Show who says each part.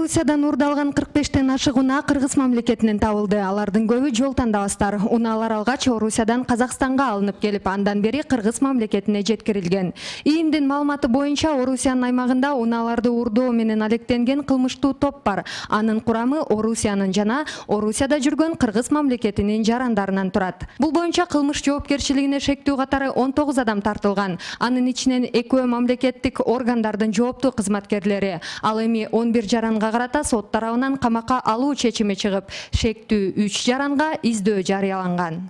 Speaker 1: Орусиядан уурдалган 45тен ашык унаа Кыргыз мамлекетинен табылды. Алардын көбү жол тандабастар. Унаалар алгач Орусиядан Казакстанга алынып келип, андан бери Кыргыз мамлекетине жеткирилген. ИИМдин маалыматы боюнча Орусиянын аймагында унааларды уурдоо менен алектенген кылмыштуу топ бар. Анын курамы Орусиянын жана Орусияда жүргөн Кыргыз мамлекетинин жарандарынан турат. Бул боюнча кылмыш жоопкерчилигине шектүү катары 19 адам тартылган. Анын ичинен 2 мамлекеттик органдардын жооптуу кызматкерлери. Ал эми 11 жаранга карата сот тарабынан камакка алуу чечими чыгып, шектүү 3 жаранга издөө жарыяланган.